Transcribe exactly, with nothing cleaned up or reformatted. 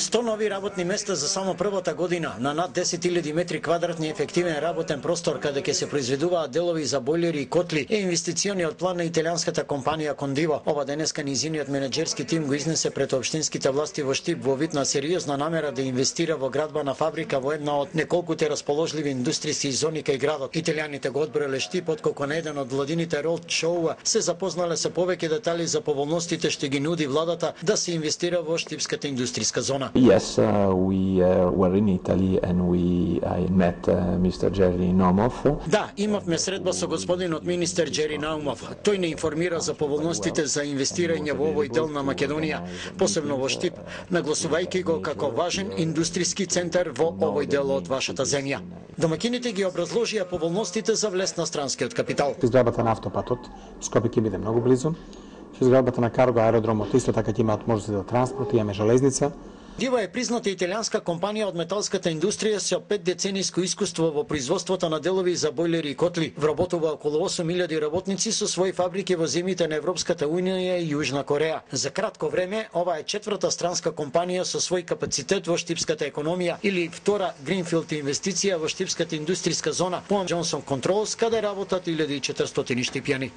сто нови работни места за само првата година на над десет илјади метри квадратни ефективен работен простор каде ќе се произведуваат делови за бойлери и котли е инвестициониот план на италијанската компанија Кондиво. Ова денеска низиниот менеџерски тим го изнесе пред општинските власти во Штип во вид на сериозна намера да инвестира во градба на фабрика во една од неколкуте расположливи индустријски зони кај градот. Италијаните го одбрале Штип откако на еден од владините ролд шоуа се запознале со повеќе детали за поволностите што ги нуди владата да се инвестира во штипската индустријска зона. Yes, uh, we uh, were in Italy and we I met uh, мистер Джери Наумов. Да, имавме средба со господинот министер Джери Наумов. Тој не информира за поволностите за инвестирање во овој дел на Македонија, посебно во Штип, нагласувајќи го како важен индустријски центар во овој дел од вашата земја. Домакините ги образложија поволностите за влез на странскиот капитал. Изградбата на автопатот Скопје ќе биде многу близу. Изградбата на карго аеродромот исто така ќе имаат можности за транспорт, имаме железница. Дива е призната италијанска компанија од металската индустрија со пет децениско искуство во производството на делови за бойлери и котли. Вработува околу осум илјади работници со своји фабрики во земјите на Европската унија и Јужна Кореја. За кратко време, ова е четврта странска компанија со свој капацитет во штипската економија или втора гринфилд инвестиција во штипската индустријска зона по Джонсон Контролс, каде работат илјада и четиристотини штипјани.